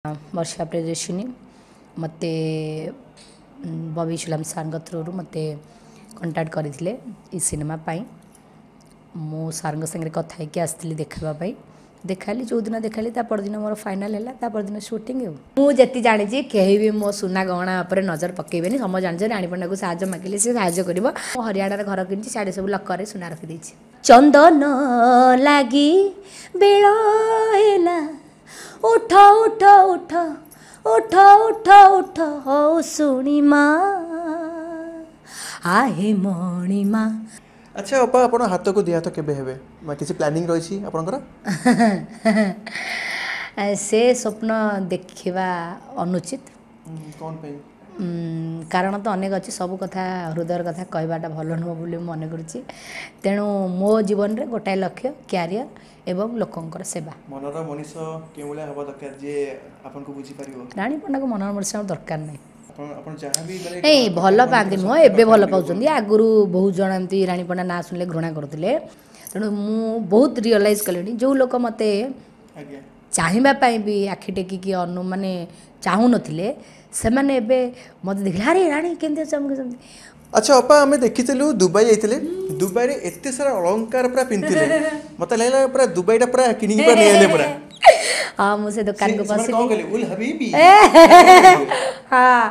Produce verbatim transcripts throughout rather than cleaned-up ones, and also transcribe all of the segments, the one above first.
ବର୍ଷା ପ୍ରିୟଦର୍ଶିନୀ ମୋତେ ବବି ଇସଲାମ ସାର୍ଙ୍କ ଥ୍ରୁରୁ ମୋତେ କଣ୍ଟାକ୍ଟ କରିଥିଲେ ଏ ସିନେମା ପାଇଁ। ମୁଁ ସାର୍ଙ୍କ ସାଙ୍ଗରେ କଥା ହେଇକି ଆସିଥିଲି ଦେଖାଇବା ପାଇଁ। ଦେଖାଇଲି, ଯେଉଁଦିନ ଦେଖାଇଲି ତା ପରଦିନ ମୋର ଫାଇନାଲ୍ ହେଲା, ତା ପରଦିନ ସୁଟିଂ। ଆଉ ମୁଁ ଯେତିକି ଜାଣିଛି, କେହି ବି ମୋ ସୁନା ଗହଣା ଉପରେ ନଜର ପକାଇବେନି। ସମସ୍ତେ ଜାଣିଛନ୍ତି, ରାଣୀ ପଣ୍ଡାକୁ ସାହାଯ୍ୟ ମାଗିଲେ ସେ ସାହାଯ୍ୟ କରିବ। ମୁଁ ହରିୟାଣାରେ ଘର କିଣିଛି, ସିଆଡ଼େ ସବୁ ଲକରରେ ସୁନା ରଖିଦେଇଛି। ଚନ୍ଦନ ଲାଗି ବେଳ ହେଲା, ଉଠ ଉଠ ଉଠ ଉଠ ଉଠ ଉଠ, ହଉ ଶୁଣିମା ଆହେ ମଣିମା। ଆଚ୍ଛା ଅପା, ଆପଣ ହାତକୁ ଦି ହାତ କେବେ ହେବେ ବା କିଛି ପ୍ଲାନିଂ ରହିଛି ଆପଣଙ୍କର? ସେ ସ୍ୱପ୍ନ ଦେଖିବା ଅନୁଚିତ। କ'ଣ ପାଇଁ? କାରଣ ତ ଅନେକ ଅଛି, ସବୁ କଥା ହୃଦୟର କଥା କହିବାଟା ଭଲ ନୁହଁ ବୋଲି ମୁଁ ମନେ କରୁଛି। ତେଣୁ ମୋ ଜୀବନରେ ଗୋଟାଏ ଲକ୍ଷ୍ୟ, କ୍ୟାରିୟର ଏବଂ ଲୋକଙ୍କର ସେବା। ମନର ମଣିଷ କେଉଁ ଭଳିଆ ହେବା ଦରକାର ଯିଏ ଆପଣଙ୍କୁ ବୁଝିପାରିବ? ରାଣୀ ପଣ୍ଡାକୁ ମନର ମଣିଷ ଦରକାର ନାହିଁ। ଆପଣ ଯାହା ବି ମାନେ ନାଇଁ, ଭଲ ପାଆନ୍ତି ନୁହଁ, ଏବେ ଭଲ ପାଉଛନ୍ତି। ଆଗରୁ ବହୁତ ଜଣ ଏମିତି ରାଣୀ ପଣ୍ଡା ନାଁ ଶୁଣିଲେ ଘୃଣା କରୁଥିଲେ। ତେଣୁ ମୁଁ ବହୁତ ରିଅଲାଇଜ୍ କଲିଣି, ଯେଉଁ ଲୋକ ମୋତେ ଚାହିଁବା ପାଇଁ ବି ଆଖି ଟେକିକି ଅନୁ ମାନେ ଚାହୁଁନଥିଲେ, ସେମାନେ ଏବେ ମୋତେ ଦେଖିଲେ, ଆରେ ରାଣୀ କେମିତି ଅଛ, ଆମକୁ ସେମିତି। ଆଚ୍ଛା ଅପା, ଆମେ ଦେଖିଥିଲୁ ଦୁବାଇ ଯାଇଥିଲେ, ଦୁବାଇରେ ଏତେ ସାରା ଅଳଙ୍କାର ପୁରା ପିନ୍ଧିଥିଲେ, ମତେ ଲାଗିଲା ପୁରା ଦୁବାଇଟା ପୁରା କିଣିକି ପୁରା ନେଇଆଇଲେ ପୁରା। ହଁ, ମୁଁ ସେ ଦୋକାନକୁ ପଶିଲି। ହଁ,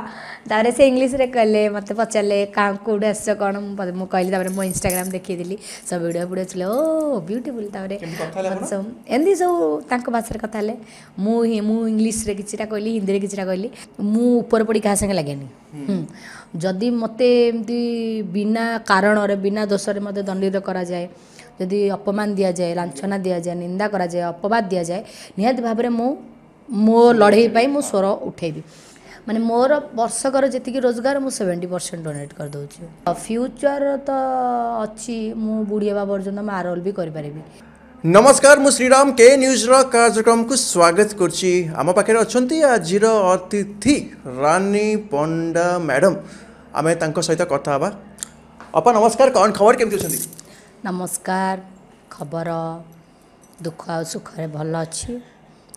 ତାପରେ ସେ ଇଂଲିଶରେ କହିଲେ, ମୋତେ ପଚାରିଲେ କେଉଁଠୁ ଆସିଛ କ'ଣ, ମୁଁ କହିଲି। ତାପରେ ମୋ ଇନଷ୍ଟାଗ୍ରାମ ଦେଖେଇଦେଲି, ସବୁ ଭିଡ଼ିଓ ଫିଡ଼ିଓ ଥିଲେ, ଓ ବ୍ୟୁଟିଫୁଲ୍। ତାପରେ ସବୁ ଏମିତି ସବୁ ତାଙ୍କ ଭାଷାରେ କଥା ହେଲେ। ମୁଁ ମୁଁ ଇଂଲିଶରେ କିଛିଟା କହିଲି, ହିନ୍ଦୀରେ କିଛିଟା କହିଲି। ମୁଁ ଉପରେ ପଡ଼ି କାହା ସାଙ୍ଗେ ଲାଗେନି। ଯଦି ମୋତେ ଏମିତି ବିନା କାରଣରେ ବିନା ଦୋଷରେ ମୋତେ ଦଣ୍ଡିତ କରାଯାଏ, ଯଦି ଅପମାନ ଦିଆଯାଏ, ଲାଞ୍ଛନା ଦିଆଯାଏ, ନିନ୍ଦା କରାଯାଏ, ଅପବାଦ ଦିଆଯାଏ, ନିହାତି ଭାବରେ ମୁଁ ମୋ ଲଢ଼େଇ ପାଇଁ ମୁଁ ସ୍ୱର ଉଠେଇବି। ମାନେ ମୋର ବର୍ଷକର ଯେତିକି ରୋଜଗାର, ମୁଁ ସେଭେଣ୍ଟି ପରସେଣ୍ଟ ଡୋନେଟ୍ କରିଦେଉଛି। ଫ୍ୟୁଚର୍ ତ ଅଛି, ମୁଁ ବୁଢ଼ୀ ହେବା ପର୍ଯ୍ୟନ୍ତ ମୁଁ ଆରୋଲ ବି କରିପାରିବି। ନମସ୍କାର, ମୁଁ ଶ୍ରୀରାମ, କେ ନ୍ୟୁଜ୍ର କାର୍ଯ୍ୟକ୍ରମକୁ ସ୍ୱାଗତ କରୁଛି। ଆମ ପାଖରେ ଅଛନ୍ତି ଆଜିର ଅତିଥି ରାନୀ ପଣ୍ଡା ମ୍ୟାଡ଼ାମ୍, ଆମେ ତାଙ୍କ ସହିତ କଥା ହେବା। ଅପା ନମସ୍କାର, କ'ଣ ଖବର, କେମିତି ଅଛନ୍ତି? ନମସ୍କାର, ଖବର ଦୁଃଖ ଆଉ ସୁଖରେ ଭଲ ଅଛି।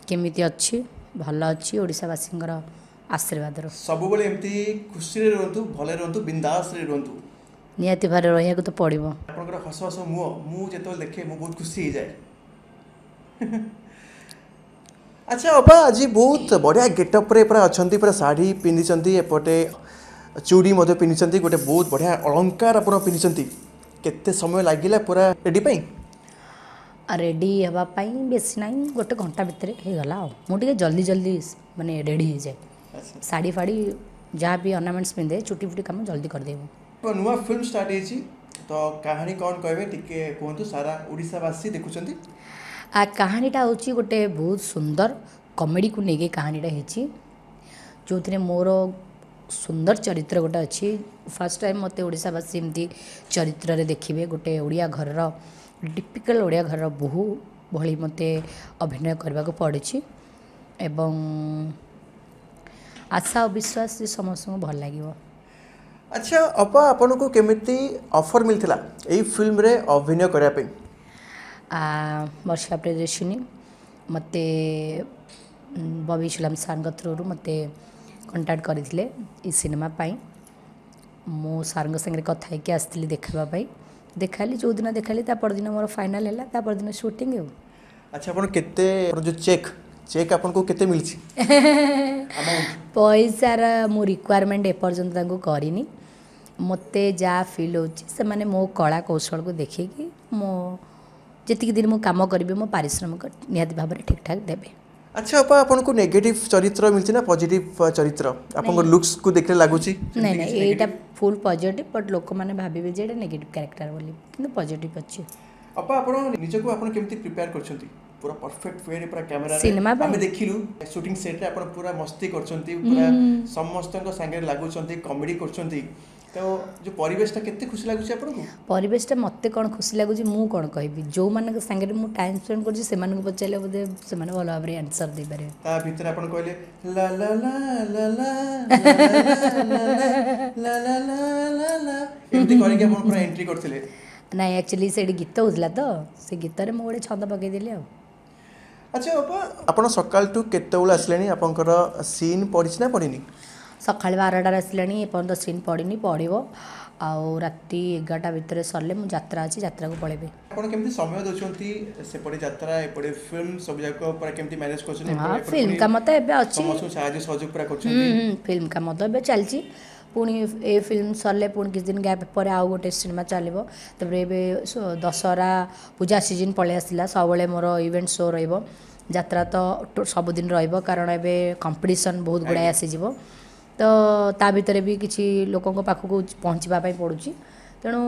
କେମିତି ଅଛି? ଭଲ ଅଛି, ଓଡ଼ିଶାବାସୀଙ୍କର ଆଶୀର୍ବାଦରୁ। ସବୁବେଳେ ଏମିତି ଖୁସିରେ ରୁହନ୍ତୁ, ଭଲରେ ରୁହନ୍ତୁ, ବିନ୍ଦାସରେ ରୁହନ୍ତୁ। ନିହାତି ଭାବରେ ରହିବାକୁ ତ ପଡ଼ିବ। ଆପଣଙ୍କର ହସ ହସ ମୁହଁ ମୁଁ ଯେତେବେଳେ ଦେଖେ, ମୁଁ ବହୁତ ଖୁସି ହେଇଯାଏ। ଆଚ୍ଛା ଅପା, ଆଜି ବହୁତ ବଢ଼ିଆ ଗେଟଅପ୍ରେ ପୁରା ଅଛନ୍ତି, ପୁରା ଶାଢ଼ୀ ପିନ୍ଧିଛନ୍ତି, ଏପଟେ ଚୁଡ଼ି ମଧ୍ୟ ପିନ୍ଧିଛନ୍ତି, ଗୋଟେ ବହୁତ ବଢ଼ିଆ ଅଳଙ୍କାର ଆପଣ ପିନ୍ଧିଛନ୍ତି। କେତେ ସମୟ ଲାଗିଲା ପୁରା ରେଡ଼ି ପାଇଁ? ରେଡ଼ି ହେବା ପାଇଁ ବେଶୀ ନାହିଁ, ଗୋଟେ ଘଣ୍ଟା ଭିତରେ ହେଇଗଲା। ଆଉ ମୁଁ ଟିକେ ଜଲ୍ଦି ଜଲ୍ଦି ମାନେ ରେଡ଼ି ହେଇଯାଏ। ଶାଢ଼ୀ ଫାଢ଼ୀ ଯାହା ବି ଅର୍ଣ୍ଣାମେଣ୍ଟସ୍ ପିନ୍ଧେ, ଚୁଟି ଫୁଟି କାମ ଜଲ୍ଦି କରିଦେବୁ। ନୂଆ ଫିଲ୍ମ ଷ୍ଟାର୍ଟ ହେଇଛି ତ, କାହାଣୀ କ'ଣ କହିବେ ଟିକେ କୁହନ୍ତୁ, ସାରା ଓଡ଼ିଶାବାସୀ ଦେଖୁଛନ୍ତି। କାହାଣୀଟା ହେଉଛି ଗୋଟେ ବହୁତ ସୁନ୍ଦର କମେଡ଼ିକୁ ନେଇକି କାହାଣୀଟା ହେଇଛି, ଯେଉଁଥିରେ ମୋର ସୁନ୍ଦର ଚରିତ୍ର ଗୋଟେ ଅଛି। ଫାର୍ଷ୍ଟ ଟାଇମ୍ ମୋତେ ଓଡ଼ିଶାବାସୀ ଏମିତି ଚରିତ୍ରରେ ଦେଖିବେ। ଗୋଟେ ଓଡ଼ିଆ ଘରର, ଟିପିକାଲ ଓଡ଼ିଆ ଘରର ବୋହୂ ଭଳି ମୋତେ ଅଭିନୟ କରିବାକୁ ପଡ଼ିଛି ଏବଂ ଆଶା ଓ ବିଶ୍ୱାସ ଯେ ସମସ୍ତଙ୍କୁ ଭଲ ଲାଗିବ। ଆଚ୍ଛା ଅପା, ଆପଣଙ୍କୁ କେମିତି ଅଫର୍ ମିଳିଥିଲା ଏଇ ଫିଲ୍ମରେ ଅଭିନୟ କରିବା ପାଇଁ? ବର୍ଷା ପ୍ରିୟଦର୍ଶିନୀ ମୋତେ ବବି ଇସଲାମ ସାର୍ଙ୍କ ଥ୍ରୁରୁ ମୋତେ କଣ୍ଟାକ୍ଟ କରିଥିଲେ ଏ ସିନେମା ପାଇଁ। ମୁଁ ସାର୍ଙ୍କ ସାଙ୍ଗରେ କଥା ହେଇକି ଆସିଥିଲି ଦେଖାଇବା ପାଇଁ। ଦେଖାଇଲି, ଯେଉଁଦିନ ଦେଖାଇଲି ତା ପରଦିନ ମୋର ଫାଇନାଲ୍ ହେଲା, ତା ପରଦିନ ସୁଟିଂ। ଆଉ ଆଚ୍ଛା, ଆପଣ କେତେ ଯେଉଁ ଚେକ୍ ଚେକ୍ ଆପଣଙ୍କୁ କେତେ ମିଳିଛି? ପଇସାର ମୁଁ ରିକ୍ୱାରମେଣ୍ଟ ଏପର୍ଯ୍ୟନ୍ତ ତାଙ୍କୁ କରିନି। ମୋତେ ଯାହା ଫିଲ୍ ହେଉଛି, ସେମାନେ ମୋ କଳା କୌଶଳକୁ ଦେଖିକି ମୋ ଯେତିକି ଦିନ ମୁଁ କାମ କରିବି, ମୋ ପାରିଶ୍ରମିକ ନିହାତି ଭାବରେ ଠିକ୍ଠାକ୍ ଦେବେ। ଆଚ୍ଛା ଅପା, ଆପଣଙ୍କୁ ନେଗେଟିଭ୍ ଚରିତ୍ର ମିଳିଛି ନା ପଜିଟିଭ୍ ଚରିତ୍ର? ଆପଣଙ୍କ ଲୁକ୍ସକୁ ଦେଖିଲେ ଲାଗୁଛି। ନାଇଁ ନାଇଁ, ଏଇଟା ଫୁଲ୍ ପଜିଟିଭ୍, ବଟ୍ ଲୋକମାନେ ଭାବିବେ ଯେ ଏଇଟା ନେଗେଟିଭ୍ କ୍ୟାରେକ୍ଟର ବୋଲି, କିନ୍ତୁ ପଜିଟିଭ୍ ଅଛି। ଅପା, ଆପଣ ନିଜକୁ ଆପଣ କେମିତି ପ୍ରିପେୟାର କରିଛନ୍ତି ପୁରା ପରଫେକ୍ଟ ୱେରେ ପୁରା କ୍ୟାମେରା? ସିନେମା ଆମେ ଦେଖିଲୁ ସୁଟିଂ ସେଟ୍ରେ ଆପଣ ପୁରା ମସ୍ତି କରୁଛନ୍ତି, ପୁରା ସମସ୍ତଙ୍କ ସାଙ୍ଗରେ ଲାଗୁଛନ୍ତି, କମେଡି କରୁଛନ୍ତି, ତ ଯେଉଁ ପରିବେଶଟା କେତେ ଖୁସି ଲାଗୁଛି ଆପଣଙ୍କୁ? ପରିବେଶଟା ମୋତେ କ'ଣ ଖୁସି ଲାଗୁଛି ମୁଁ କ'ଣ କହିବି, ଯେଉଁମାନଙ୍କ ସାଙ୍ଗରେ ମୁଁ ଟାଇମ୍ ସ୍ପେଣ୍ଡ କରୁଛି ସେମାନଙ୍କୁ ପଚାରିଲେ ବୋଧେ ସେମାନେ ଭଲ ଭାବରେ ଆନ୍ସର୍ ଦେଇପାରିବେ। ତା ଭିତରେ ଆପଣ କହିଲେ ଲା ଲା ଲା ଲା ଲା ଲା ଲା ଲା ଲା, ଏମିତି କରିକି ଆପଣ ପୁରା ଏଣ୍ଟ୍ରି କରିଥିଲେ। ନାଇଁ, ଆକ୍ଚୁଆଲି ସେଇଠି ଗୀତ ହେଉଥିଲା ତ, ସେ ଗୀତରେ ମୁଁ ଗୋଟେ ଛନ୍ଦ ପକେଇଦେଲି। ଆଉ ଆଚ୍ଛା ଅପା, ଆପଣ ସକାଳଠୁ କେତେବେଳେ ଆସିଲେଣି? ଆପଣଙ୍କର ସିନ୍ ପଡ଼ିଛି ନା ପଡ଼ିନି? ସକାଳ ବାରଟାରେ ଆସିଲାଣି, ଏପର୍ଯ୍ୟନ୍ତ ସିନ୍ ପଡ଼ିନି, ପଡ଼ିବ। ଆଉ ରାତି ଏଗାରଟା ଭିତରେ ସରିଲେ ମୁଁ ଯାତ୍ରା ଅଛି, ଯାତ୍ରାକୁ ପଳେଇବି। ଆପଣ କେମିତି ସମୟ ଦେଉଛନ୍ତି? ସେପଟେ ଯାତ୍ରା, ଏପଟେ ଫିଲ୍ମ, ସବୁ ଯାକ ପୁରା କେମିତି ମ୍ୟାନେଜ୍ କରୁଛନ୍ତି? ହଁ, ଫିଲ୍ମ କାମ ତ ଏବେ ଅଛି, ସମସ୍ତଙ୍କୁ ସାହାଯ୍ୟ ସହଯୋଗ ପୁରା କରୁଛନ୍ତି। ଫିଲ୍ମ କାମ ତ ଏବେ ଚାଲିଛି। ପୁଣି ଏ ଫିଲ୍ମ ସରିଲେ ପୁଣି କିଛି ଦିନ ଗ୍ୟାପ୍ ପରେ ଆଉ ଗୋଟେ ସିନେମା ଚାଲିବ। ତାପରେ ଏବେ ଦଶହରା ପୂଜା ସିଜନ୍ ପଳେଇ ଆସିଲା, ସବୁବେଳେ ମୋର ଇଭେଣ୍ଟ ଶୋ ରହିବ। ଯାତ୍ରା ତ ସବୁଦିନ ରହିବ, କାରଣ ଏବେ କମ୍ପିଟିସନ୍ ବହୁତ ଗୁଡ଼ାଏ ଆସିଯିବ, ତ ତା ଭିତରେ ବି କିଛି ଲୋକଙ୍କ ପାଖକୁ ପହଞ୍ଚିବା ପାଇଁ ପଡ଼ୁଛି। ତେଣୁ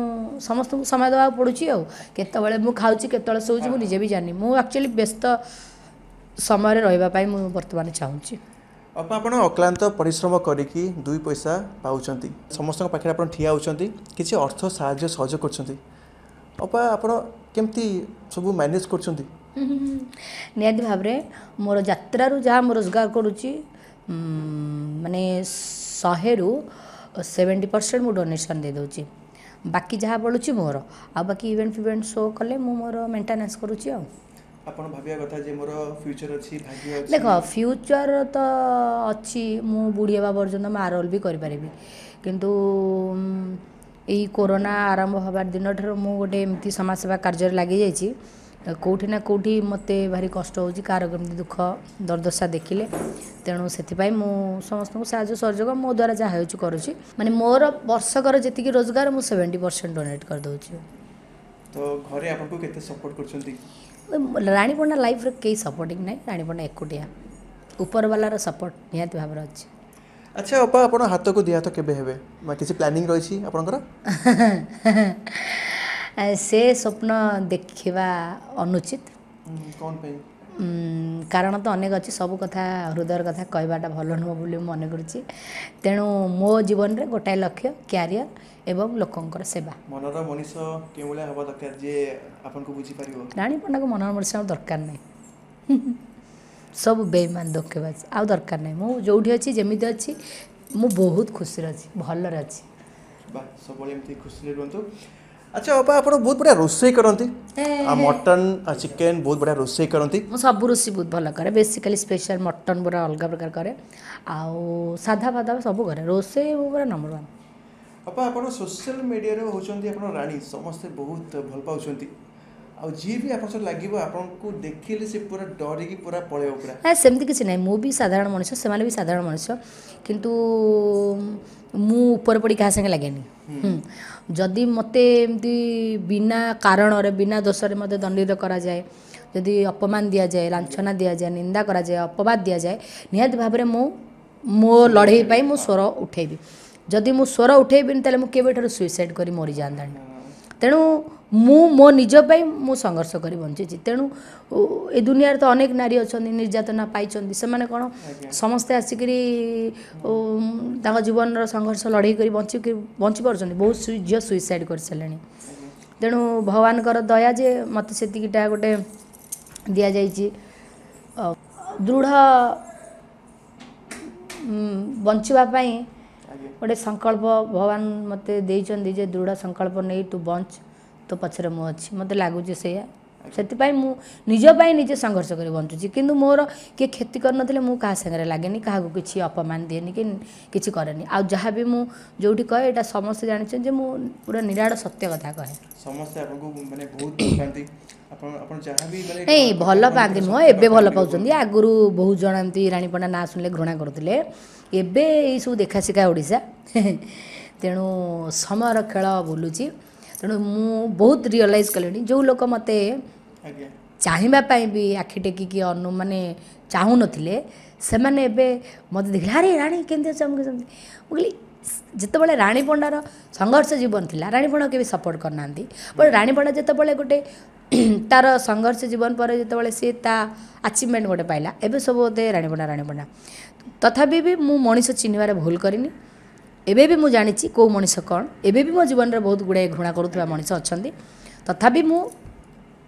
ସମସ୍ତଙ୍କୁ ସମୟ ଦେବାକୁ ପଡ଼ୁଛି। ଆଉ କେତେବେଳେ ମୁଁ ଖାଉଛି, କେତେବେଳେ ଶୋଉଛି, ମୁଁ ନିଜେ ବି ଜାଣିନି। ମୁଁ ଆକ୍ଚୁଆଲି ବ୍ୟସ୍ତ ସମୟରେ ରହିବା ପାଇଁ ମୁଁ ବର୍ତ୍ତମାନ ଚାହୁଁଛି। ଅପା, ଆପଣ ଅକ୍ଳାନ୍ତ ପରିଶ୍ରମ କରିକି ଦୁଇ ପଇସା ପାଉଛନ୍ତି, ସମସ୍ତଙ୍କ ପାଖରେ ଆପଣ ଠିଆ ହେଉଛନ୍ତି, କିଛି ଅର୍ଥ ସାହାଯ୍ୟ ସହଯୋଗ କରୁଛନ୍ତି। ଅପା, ଆପଣ କେମିତି ସବୁ ମ୍ୟାନେଜ୍ କରୁଛନ୍ତି? ନିହାତି ଭାବରେ ମୋର ଯାତ୍ରାରୁ ଯାହା ମୁଁ ରୋଜଗାର କରୁଛି, ମାନେ ଶହେରୁ ସେଭେଣ୍ଟି ପରସେଣ୍ଟ ମୁଁ ଡୋନେସନ୍ ଦେଇଦେଉଛି, ବାକି ଯାହା ବଳୁଛି ମୋର। ଆଉ ବାକି ଇଭେଣ୍ଟ ଫିଭେଣ୍ଟ ଶୋ କଲେ ମୁଁ ମୋର ମେଣ୍ଟେନାନ୍ସ କରୁଛି। ଆଉ ଆପଣ ଭାବିବା କଥା ଯେ ମୋର ଫ୍ୟୁଚର ଅଛି, ଭାଗ୍ୟ ଅଛି। ଦେଖ, ଫ୍ୟୁଚର ତ ଅଛି, ମୁଁ ବୁଢ଼ୀ ହେବା ପର୍ଯ୍ୟନ୍ତ ମୁଁ ଆରୋଲ ବି କରିପାରିବି। କିନ୍ତୁ ଏଇ କୋରୋନା ଆରମ୍ଭ ହେବା ଦିନଠାରୁ ମୁଁ ଗୋଟେ ଏମିତି ସମାଜସେବା କାର୍ଯ୍ୟରେ ଲାଗିଯାଇଛି, କେଉଁଠି ନା କେଉଁଠି ମୋତେ ଭାରି କଷ୍ଟ ହେଉଛି କାହାର କେମିତି ଦୁଃଖ ଦୁର୍ଦଶା ଦେଖିଲେ। ତେଣୁ ସେଥିପାଇଁ ମୁଁ ସମସ୍ତଙ୍କୁ ସାହାଯ୍ୟ ସହଯୋଗ ମୋ ଦ୍ୱାରା ଯାହା ହେଉଛି କରୁଛି। ମାନେ ମୋର ବର୍ଷକର ଯେତିକି ରୋଜଗାର, ମୁଁ ସେଭେଣ୍ଟି ପରସେଣ୍ଟ ଡୋନେଟ୍ କରିଦେଉଛି। ତ ଘରେ ଆପଣଙ୍କୁ କେତେ ସପୋର୍ଟ କରୁଛନ୍ତି? ରାଣୀ ପଣ୍ଡା ଲାଇଫ୍ରେ କେହି ସପୋର୍ଟିଂ ନାହିଁ, ରାଣୀ ପଣ୍ଡା ଏକୁଟିଆ। ଉପରବାଲାର ସପୋର୍ଟ ନିହାତି ଭାବରେ ଅଛି। ଆଚ୍ଛା ଅପା, ଆପଣ ହାତକୁ ଦୁଇ ହାତ କେବେ ହେବେ, କିଛି ପ୍ଲାନିଂ ରହିଛି ଆପଣଙ୍କର? ସେ ସ୍ୱପ୍ନ ଦେଖିବା ଅନୁଚିତ। କ'ଣ ପାଇଁ? କାରଣ ତ ଅନେକ ଅଛି, ସବୁ କଥା ହୃଦୟର କଥା କହିବାଟା ଭଲ ନୁହଁ ବୋଲି ମୁଁ ମନେ କରୁଛି। ତେଣୁ ମୋ ଜୀବନରେ ଗୋଟାଏ ଲକ୍ଷ୍ୟ, କ୍ୟାରିୟର ଏବଂ ଲୋକଙ୍କର ସେବା। ମନର ମଣିଷ କେଉଁ ଭଳିଆ ହେବା ଦରକାର ଯିଏ ଆପଣଙ୍କୁ ବୁଝିପାରିବ? ରାଣୀ ପଣ୍ଡାକୁ ମନର ମଣିଷ ଆଉ ଦରକାର ନାହିଁ, ସବୁ ବେଇମାନ ଧୋକେବାଜ ଆଉ ଦରକାର ନାହିଁ। ମୁଁ ଯେଉଁଠି ଅଛି, ଯେମିତି ଅଛି, ମୁଁ ବହୁତ ଖୁସିରେ ଅଛି, ଭଲରେ ଅଛି। ବା, ସବୁବେଳେ ଏମିତି ଖୁସିରେ ରୁହନ୍ତୁ। ଆଚ୍ଛା ଅପା, ଆପଣ ବହୁତ ବଢ଼ିଆ ରୋଷେଇ କରନ୍ତି, ଆଉ ମଟନ୍ ଆଉ ଚିକେନ୍ ବହୁତ ବଢ଼ିଆ ରୋଷେଇ କରନ୍ତି। ମୁଁ ସବୁ ରୋଷେଇ ବହୁତ ଭଲ କରେ, ବେସିକାଲି ସ୍ପେଶାଲ ମଟନ୍ ପୁରା ଅଲଗା ପ୍ରକାର କରେ, ଆଉ ସାଧା ଫାଧା ସବୁ କରେ। ରୋଷେଇ ମୁଁ ପୁରା ନମ୍ବର ୱାନ୍। ଅପା, ଆପଣ ସୋସିଆଲ ମିଡ଼ିଆରେ ହେଉଛନ୍ତି ଆପଣ ରାଣୀ, ସମସ୍ତେ ବହୁତ ଭଲ ପାଉଛନ୍ତି, ଆଉ ଯିଏ ବି ଆପଣଙ୍କ ସହିତ ଲାଗିବ ଆପଣଙ୍କୁ ଦେଖିଲେ ସେ ପୁରା ଡରିକି ପୁରା ପଳେଇବ ପୁରା। ନା, ସେମିତି କିଛି ନାହିଁ, ମୁଁ ବି ସାଧାରଣ ମଣିଷ, ସେମାନେ ବି ସାଧାରଣ ମଣିଷ, କିନ୍ତୁ ମୁଁ ଉପରେ ପଡ଼ି କାହା ସାଙ୍ଗେ ଲାଗେନି। ଯଦି ମୋତେ ଏମିତି ବିନା କାରଣରେ, ବିନା ଦୋଷରେ ମୋତେ ଦଣ୍ଡିତ କରାଯାଏ, ଯଦି ଅପମାନ ଦିଆଯାଏ, ଲାଞ୍ଛନା ଦିଆଯାଏ, ନିନ୍ଦା କରାଯାଏ, ଅପବାଦ ଦିଆଯାଏ, ନିହାତି ଭାବରେ ମୁଁ ମୋ ଲଢ଼େଇ ପାଇଁ ମୁଁ ସ୍ୱର ଉଠେଇବି। ଯଦି ମୁଁ ସ୍ୱର ଉଠେଇବିନି, ତାହେଲେ ମୁଁ କେବେଠାରୁ ସୁଇସାଇଡ଼୍ କରି ମରିଯାଆନ୍ତାଣି। ତେଣୁ ମୁଁ ମୋ ନିଜ ପାଇଁ ମୁଁ ସଂଘର୍ଷ କରି ବଞ୍ଚିଛି। ତେଣୁ ଏ ଦୁନିଆରେ ତ ଅନେକ ନାରୀ ଅଛନ୍ତି, ନିର୍ଯାତନା ପାଇଛନ୍ତି, ସେମାନେ କ'ଣ ସମସ୍ତେ ଆସିକରି ତାଙ୍କ ଜୀବନର ସଂଘର୍ଷ ଲଢ଼େଇ କରି ବଞ୍ଚିକି ବଞ୍ଚି ପାରୁଛନ୍ତି? ବହୁତ ଝିଅ ସୁଇସାଇଡ଼୍ କରିସାରିଲେଣି। ତେଣୁ ଭଗବାନଙ୍କର ଦୟା ଯେ ମୋତେ ସେତିକିଟା ଗୋଟେ ଦିଆଯାଇଛି ଦୃଢ଼ ବଞ୍ଚିବା ପାଇଁ ଗୋଟେ ସଂକଳ୍ପ। ଭଗବାନ ମୋତେ ଦେଇଛନ୍ତି ଯେ ଦୃଢ଼ ସଂକଳ୍ପ ନେଇ ତୁ ବଞ୍ଚ, ତୋ ପଛରେ ମୁଁ ଅଛି। ମୋତେ ଲାଗୁଛି ସେଇଆ, ସେଥିପାଇଁ ମୁଁ ନିଜ ପାଇଁ ନିଜେ ସଂଘର୍ଷ କରି ବଞ୍ଚୁଛି। କିନ୍ତୁ ମୋର କିଏ କ୍ଷତି କରିନଥିଲେ ମୁଁ କାହା ସାଙ୍ଗରେ ଲାଗେନି, କାହାକୁ କିଛି ଅପମାନ ଦିଏନି କି କିଛି କରେନି। ଆଉ ଯାହା ବି ମୁଁ ଯେଉଁଠି କହେ, ଏଇଟା ସମସ୍ତେ ଜାଣିଛନ୍ତି ଯେ ମୁଁ ପୁରା ନିରାଟ ସତ୍ୟ କଥା କହେ। ସମସ୍ତେ ଆପଣଙ୍କୁ ମାନେ ବହୁତ ଭଲ ପାଆନ୍ତି, ଆପଣ ଆପଣ ଯାହା ବି ମାନେ ନାଇଁ, ଭଲ ପାଆନ୍ତି ନୁହଁ, ଏବେ ଭଲ ପାଉଛନ୍ତି। ଆଗରୁ ବହୁତ ଜଣ ଏମିତି ରାଣୀ ପଣ୍ଡା ନାଁ ଶୁଣିଲେ ଘୃଣା କରୁଥିଲେ। ଏବେ ଏଇସବୁ ଦେଖା ଶିଖା ଓଡ଼ିଶା, ତେଣୁ ସମୟର ଖେଳ ବୁଲୁଛି। ତେଣୁ ମୁଁ ବହୁତ ରିଅଲାଇଜ୍ କଲିଣି, ଯେଉଁ ଲୋକ ମୋତେ ଚାହିଁବା ପାଇଁ ବି ଆଖି ଟେକିକି ଅନୁ ମାନେ ଚାହୁଁନଥିଲେ, ସେମାନେ ଏବେ ମୋତେ ଦେଖିଲେ, ଆରେ ରାଣୀ କେମିତି ଅଛ, ମୁଁ କେମିତି। ମୁଁ କହିଲି, ଯେତେବେଳେ ରାଣୀ ପଣ୍ଡାର ସଂଘର୍ଷ ଜୀବନ ଥିଲା, ରାଣୀ ପଣ୍ଡା କେବେ ସପୋର୍ଟ କରିନାହାନ୍ତି। ବଟ୍ ରାଣୀ ପଣ୍ଡା ଯେତେବେଳେ ଗୋଟେ ତାର ସଂଘର୍ଷ ଜୀବନ ପରେ ଯେତେବେଳେ ସିଏ ତା ଆଚିଭମେଣ୍ଟ ଗୋଟେ ପାଇଲା, ଏବେ ସବୁ ବୋଧେ ରାଣୀ ପଣ୍ଡା ରାଣୀ ପଣ୍ଡା। ତଥାପି ବି ମୁଁ ମଣିଷ ଚିହ୍ନିବାରେ ଭୁଲ କରିନି। ଏବେ ବି ମୁଁ ଜାଣିଛି କେଉଁ ମଣିଷ କ'ଣ। ଏବେ ବି ମୋ ଜୀବନରେ ବହୁତ ଗୁଡ଼ାଏ ଘୃଣା କରୁଥିବା ମଣିଷ ଅଛନ୍ତି, ତଥାପି ମୁଁ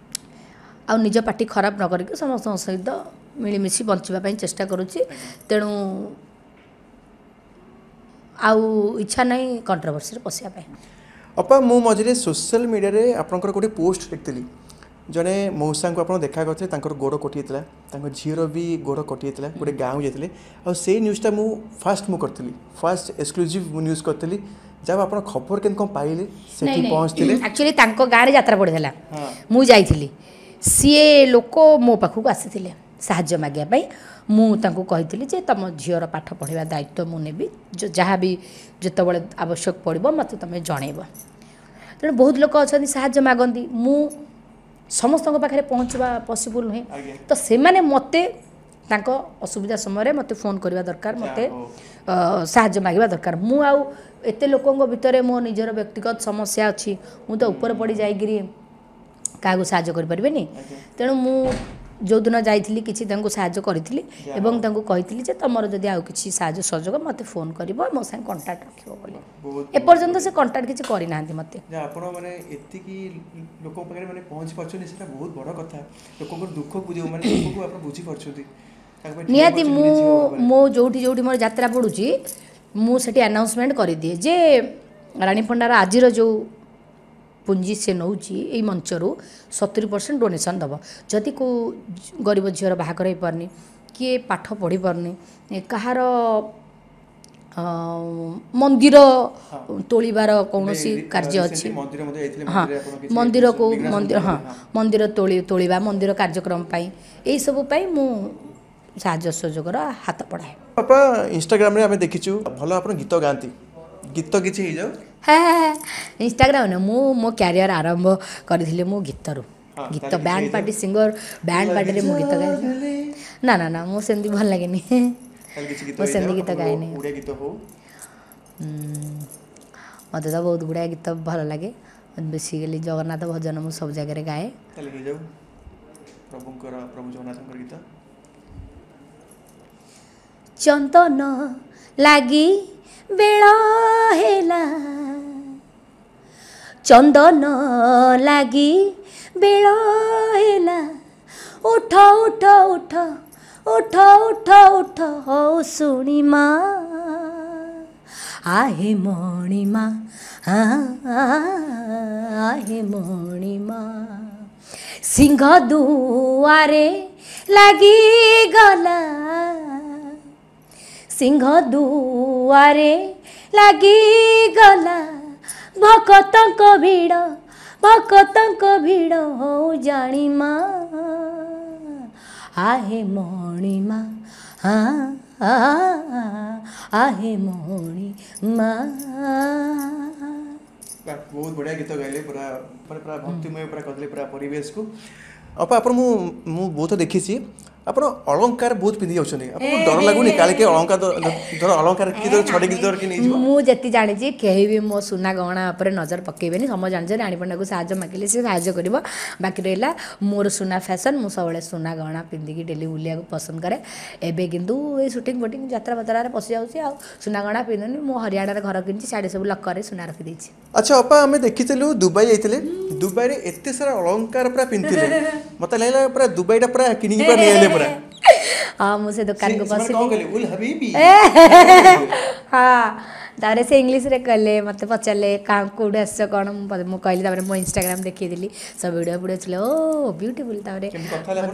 ଆଉ ନିଜ ପାଟି ଖରାପ ନ କରିକି ସମସ୍ତଙ୍କ ସହିତ ମିଳିମିଶି ବଞ୍ଚିବା ପାଇଁ ଚେଷ୍ଟା କରୁଛି। ତେଣୁ ଆଉ ଇଚ୍ଛା ନାହିଁ କଣ୍ଟ୍ରୋଭର୍ସିରେ ପଶିବା ପାଇଁ। ଅପା, ମୁଁ ମଝିରେ ସୋସିଆଲ ମିଡ଼ିଆରେ ଆପଣଙ୍କର ଗୋଟେ ପୋଷ୍ଟ ଦେଖିଥିଲି, ଜଣେ ମଉସାଙ୍କୁ ଆପଣ ଦେଖା କରିଥିଲେ, ତାଙ୍କର ଗୋଡ଼ କଟିଯାଇଥିଲା, ତାଙ୍କ ଝିଅର ବି ଗୋଡ଼ କଟିଯାଇଥିଲା, ଗୋଟେ ଗାଁକୁ ଯାଇଥିଲେ। ଆଉ ସେଇ ନ୍ୟୁଜ୍ଟା ମୁଁ ଫାଷ୍ଟ ମୁଁ କରିଥିଲି, ଫାଷ୍ଟ ଏକ୍ସକ୍ଲୁଜିଭ୍ ମୁଁ ନ୍ୟୁଜ୍ କରିଥିଲି। ଯାହା ଆପଣ ଖବର କେମିତି କ'ଣ ପାଇଲେ, ସେଠି ପହଞ୍ଚିଥିଲେ? ଆକ୍ଚୁଆଲି ତାଙ୍କ ଗାଁରେ ଯାତ୍ରା ପଡ଼ିଥିଲା, ମୁଁ ଯାଇଥିଲି। ସିଏ ଲୋକ ମୋ ପାଖକୁ ଆସିଥିଲେ ସାହାଯ୍ୟ ମାଗିବା ପାଇଁ। ମୁଁ ତାଙ୍କୁ କହିଥିଲି ଯେ ତୁମ ଝିଅର ପାଠ ପଢ଼ିବା ଦାୟିତ୍ୱ ମୁଁ ନେବି, ଯାହା ବି ଯେତେବେଳେ ଆବଶ୍ୟକ ପଡ଼ିବ ମୋତେ ତୁମେ ଜଣେଇବ। ତେଣୁ ବହୁତ ଲୋକ ଅଛନ୍ତି ସାହାଯ୍ୟ ମାଗନ୍ତି, ମୁଁ ସମସ୍ତଙ୍କ ପାଖରେ ପହଞ୍ଚିବା ପସିବୁଲ୍ ନୁହେଁ। ତ ସେମାନେ ମୋତେ ତାଙ୍କ ଅସୁବିଧା ସମୟରେ ମୋତେ ଫୋନ୍ କରିବା ଦରକାର, ମୋତେ ସାହାଯ୍ୟ ମାଗିବା ଦରକାର। ମୁଁ ଆଉ ଏତେ ଲୋକଙ୍କ ଭିତରେ ମୋ ନିଜର ବ୍ୟକ୍ତିଗତ ସମସ୍ୟା ଅଛି, ମୁଁ ତ ଉପରେ ପଡ଼ି ଯାଇକିରି କାହାକୁ ସାହାଯ୍ୟ କରିପାରିବିନି। ତେଣୁ ମୁଁ ଯେଉଁଦିନ ଯାଇଥିଲି କିଛି ତାଙ୍କୁ ସାହାଯ୍ୟ କରିଥିଲି ଏବଂ ତାଙ୍କୁ କହିଥିଲି ଯେ ତୁମର ଯଦି ଆଉ କିଛି ସାହାଯ୍ୟ ସହଯୋଗ ମୋତେ ଫୋନ୍ କରିବ, ମୋ ସାଙ୍ଗେ କଣ୍ଟାକ୍ଟ ରଖିବ ବୋଲି। ଏପର୍ଯ୍ୟନ୍ତ ସେ କଣ୍ଟାକ୍ଟ କିଛି କରିନାହାନ୍ତି ମୋତେ। ଆପଣ ମାନେ ଏତିକି ଲୋକଙ୍କ ପାଖରେ ମାନେ ପହଞ୍ଚି ପାରୁଛନ୍ତି, ସେଟା ବହୁତ ବଡ଼ କଥା। ଲୋକଙ୍କର ଦୁଃଖକୁ ମାନେ ଦୁଃଖକୁ ଆପଣ ବୁଝିପାରୁଛନ୍ତି ନିହାତି। ମୁଁ ମୁଁ ଯେଉଁଠି ଯେଉଁଠି ମୋର ଯାତ୍ରା ପଡ଼ୁଛି ମୁଁ ସେଠି ଆନାଉନ୍ସମେଣ୍ଟ କରିଦିଏ ଯେ ରାଣୀ ପଣ୍ଡାର ଆଜିର ଯେଉଁ ପୁଞ୍ଜି ସେ ନେଉଛି ଏଇ ମଞ୍ଚରୁ ସତୁରି ପରସେଣ୍ଟ ଡୋନେସନ୍ ଦେବ। ଯଦି କେଉଁ ଗରିବ ଝିଅର ବାହାଘର ହେଇପାରୁନି, କିଏ ପାଠ ପଢ଼ିପାରୁନି, କାହାର ମନ୍ଦିର ତୋଳିବାର କୌଣସି କାର୍ଯ୍ୟ ଅଛି, ହଁ ମନ୍ଦିରକୁ ମନ୍ଦିର ହଁ ମନ୍ଦିର ତୋଳି ତୋଳିବା ମନ୍ଦିର କାର୍ଯ୍ୟକ୍ରମ ପାଇଁ, ଏଇସବୁ ପାଇଁ ମୁଁ ସାହାଯ୍ୟ ସହଯୋଗର ହାତ ବଢ଼ାଏ। ବାପା, ଇନଷ୍ଟାଗ୍ରାମରେ ଆମେ ଦେଖିଛୁ ଭଲ ଆପଣ ଗୀତ ଗାଆନ୍ତି, ଗୀତ କିଛି ହେଇଯାଉ। ହେ ଇନଷ୍ଟାଗ୍ରାମ ନା, ମୁଁ ମୋ କ୍ୟାରିୟର ଆରମ୍ଭ କରିଥିଲି ମୁଁ ଗୀତରୁ। ଗୀତ ବ୍ୟାଣ୍ଡ ପାର୍ଟି ସିଙ୍ଗର, ବ୍ୟାଣ୍ଡ ପାର୍ଟିରେ ମୁଁ ଗୀତ ଗାଏ। ନା ନା ନା, ମୁଁ ସେମିତି ଭଲ ଲାଗେନି, ମୁଁ ସେମିତି ଗୀତ ଗାଏନି। ମୋତେ ତ ବହୁତ ଗୁଡ଼ାଏ ଗୀତ ଭଲ ଲାଗେ, ବେସିକାଲି ଜଗନ୍ନାଥ ଭଜନ ମୁଁ ସବୁ ଜାଗାରେ ଗାଏ। ପ୍ରଭୁଙ୍କର ପ୍ରଭୁ ଜଗନ୍ନାଥଙ୍କର ଗୀତ। ଚନ୍ଦନ ଲାଗି ବେଳ ହେଲା, ଚନ୍ଦନ ଲାଗି ବେଳ ହେଲା, ଉଠ ଉଠ ଉଠ ଉଠ ଉଠ ଉଠ ହଉ ଶୁଣି ମା, ଆହେ ମଣିମା ଆହେ ମଣିମା। ସିଂହ ଦୁଆରେ ଲାଗିଗଲା, ସିଂହ ଦୁଆରେ ଲାଗିଗଲା, ଭକତଙ୍କ ଭିଡ଼ ଭକତଙ୍କ ଭିଡ଼ ହଉ ଜାଣିମା, ଆହେ ମଣିମା ଆହେ ମଣିମା। ବହୁତ ବଢ଼ିଆ ଗୀତ ଗାଇଲେ, ପୁରା ମାନେ ପୁରା ଭକ୍ତିମୟ ପୁରା କରିଦେଲେ ପୁରା ପରିବେଶକୁ। ଅପା, ଆପଣ ମୁଁ ମୁଁ ବହୁତ ଦେଖିଛି ଆପଣ ଅଳଙ୍କାର ବହୁତ ପିନ୍ଧି ଯାଉଛନ୍ତି, ଆପଣଙ୍କୁ ଡର ଲାଗୁନି କାଳେ କିଏ ଅଳଙ୍କାର ଧର ଅଳଙ୍କାର କିଏ ଧର ଛଡ଼େଇକି ଧରିକି ନେଇଯିବ? ମୁଁ ଯେତିକି ଜାଣିଛି କେହି ବି ମୋ ସୁନା ଗହଣା ଉପରେ ନଜର ପକେଇବେନି। ସମସ୍ତେ ଜାଣିଛନ୍ତି ରାଣୀ ପଣ୍ଡାକୁ ସାହାଯ୍ୟ ମାଗିଲେ ସେ ସାହାଯ୍ୟ କରିବ। ବାକି ରହିଲା ମୋର ସୁନା ଫ୍ୟାସନ୍, ମୁଁ ସବୁବେଳେ ସୁନା ଗହଣା ପିନ୍ଧିକି ଡେଲି ବୁଲିବାକୁ ପସନ୍ଦ କରେ। ଏବେ କିନ୍ତୁ ଏଇ ସୁଟିଂ ଫୁଟିଂ ଯାତ୍ରା ଫାତ୍ରାରେ ପଶିଯାଉଛି, ଆଉ ସୁନା ଗହଣା ପିନ୍ଧୁନି। ମୁଁ ହରିୟାଣାରେ ଘର କିଣିଛି, ସିଆଡ଼େ ସବୁ ଲକରରେ ସୁନା ରଖିଦେଇଛି। ଆଚ୍ଛା ଅପା, ଆମେ ଦେଖିଥିଲୁ ଦୁବାଇ ଯାଇଥିଲେ, ଦୁବାଇରେ ଏତେ ସାରା ଅଳଙ୍କାର ପୁରା ପିନ୍ଧିଥିଲେ, ମତେ ଲାଗିଲା ପୁରା ଦୁବାଇଟା ପୁରା କିଣିକି ପୁରା ନେଇଆଇଲେ ପୁରା। ହଁ, ମୁଁ ସେ ଦୋକାନକୁ ପଶିଲି। ହଁ, ତାପରେ ସେ ଇଂଲିଶରେ କହିଲେ, ମୋତେ ପଚାରିଲେ କେଉଁଠୁ ଆସିଛ କ'ଣ, ମୁଁ କହିଲି। ତାପରେ ମୋ ଇନଷ୍ଟାଗ୍ରାମ ଦେଖେଇଦେଲି, ସବୁ ଭିଡ଼ିଓ ଫିଡ଼ିଓ ଥିଲେ, ଓ ବ୍ୟୁଟିଫୁଲ୍। ତାପରେ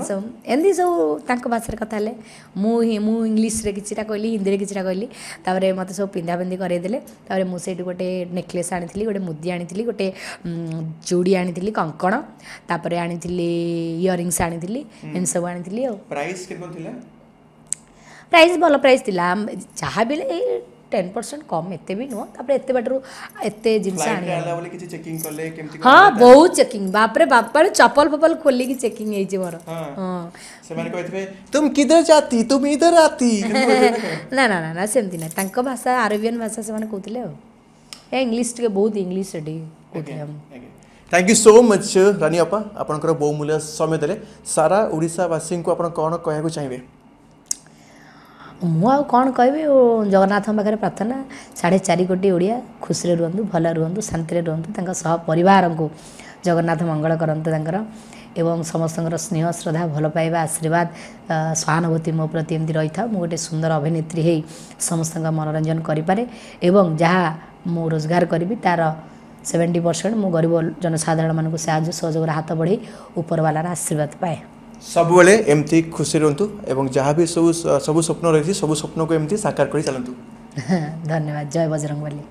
ସବୁ ଏମିତି ସବୁ ତାଙ୍କ ଭାଷାରେ କଥା ହେଲେ। ମୁଁ ହିଁ ମୁଁ ଇଂଲିଶରେ କିଛିଟା କହିଲି, ହିନ୍ଦୀରେ କିଛିଟା କହିଲି। ତାପରେ ମୋତେ ସବୁ ପିନ୍ଧା ପିନ୍ଧି କରେଇଦେଲେ। ତାପରେ ମୁଁ ସେଇଠି ଗୋଟେ ନେକଲେସ୍ ଆଣିଥିଲି, ଗୋଟେ ମୁଦି ଆଣିଥିଲି, ଗୋଟେ ଚୁଡ଼ି ଆଣିଥିଲି, କଙ୍କଣ, ତାପରେ ଆଣିଥିଲି ଇୟରିଙ୍ଗସ୍ ଆଣିଥିଲି, ଏମିତି ସବୁ ଆଣିଥିଲି। ଆଉ ପ୍ରାଇସ୍ କେତେ ଥିଲା? ପ୍ରାଇସ୍ ଭଲ ପ୍ରାଇସ୍ ଥିଲା, ଯାହା ବି ହେଲେ ଏଇ ଟେନ୍ ପରସେଣ୍ଟ କମ୍, ଏତେ ବି ନୁହଁ। ତାପରେ ଏତେ ବାଟରୁ ଏତେ ଜିନିଷ ଆଣିବା। ହଁ, ବହୁତ ଚେକିଂ, ବାପରେ ବାପରେ, ଚପଲ ଫପଲ ଖୋଲିକି ଚେକିଂ ହେଇଛି ମୋର। ହଁ, ସେମାନେ କହିଥିବେ ତୁମ କିଧର ଜାତି, ତୁମ ଇଧର ଆତି? ନା ନା ନା ନା, ସେମିତି ନାହିଁ। ତାଙ୍କ ଭାଷା ଆରବିଆନ ଭାଷା ସେମାନେ କହୁଥିଲେ, ଆଉ ଏ ଇଂଲିଶ ଟିକେ ବହୁତ ଇଂଲିଶ ସେଠି କହୁଥିଲେ। Thank you so much ରାନୀ ଅପା, ଆପଣଙ୍କର ବହୁମୂଲ୍ୟ ସମୟ ଦେଲେ। ସାରା ଓଡ଼ିଶାବାସୀଙ୍କୁ ଆପଣ କ'ଣ କହିବାକୁ ଚାହିଁବେ? ମୁଁ ଆଉ କ'ଣ କହିବି, ଜଗନ୍ନାଥଙ୍କ ପାଖରେ ପ୍ରାର୍ଥନା, ସାଢ଼େ ଚାରି କୋଟି ଓଡ଼ିଆ ଖୁସିରେ ରୁହନ୍ତୁ, ଭଲ ରୁହନ୍ତୁ, ଶାନ୍ତିରେ ରୁହନ୍ତୁ, ତାଙ୍କ ସହ ପରିବାରଙ୍କୁ ଜଗନ୍ନାଥ ମଙ୍ଗଳ କରନ୍ତୁ ତାଙ୍କର, ଏବଂ ସମସ୍ତଙ୍କର ସ୍ନେହ ଶ୍ରଦ୍ଧା ଭଲ ପାଇବା ଆଶୀର୍ବାଦ ସହାନୁଭୂତି ମୋ ପ୍ରତି ଏମିତି ରହିଥାଉ। ମୁଁ ଗୋଟେ ସୁନ୍ଦର ଅଭିନେତ୍ରୀ ହେଇ ସମସ୍ତଙ୍କ ମନୋରଞ୍ଜନ କରିପାରେ ଏବଂ ଯାହା ମୁଁ ରୋଜଗାର କରିବି ତା'ର ସେଭେଣ୍ଟି ପରସେଣ୍ଟ ମୁଁ ଗରିବ ଜନସାଧାରଣମାନଙ୍କୁ ସାହାଯ୍ୟ ସହଯୋଗର ହାତ ବଢ଼େଇ ଉପରବାଲାର ଆଶୀର୍ବାଦ ପାଏ। ସବୁବେଳେ ଏମିତି ଖୁସି ରୁହନ୍ତୁ ଏବଂ ଯାହା ବି ସବୁ ସବୁ ସ୍ୱପ୍ନ ରହିଛି, ସବୁ ସ୍ୱପ୍ନକୁ ଏମିତି ସାକାର କରି ଚାଲନ୍ତୁ। ଧନ୍ୟବାଦ। ଜୟ ବଜରଙ୍ଗବଲି।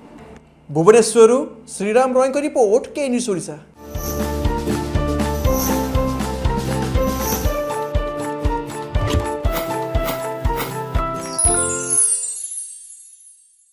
ଭୁବନେଶ୍ୱରରୁ ଶ୍ରୀରାମ ରୟଙ୍କ ରିପୋର୍ଟ, କେ ନ୍ୟୁଜ୍ ଓଡ଼ିଶା।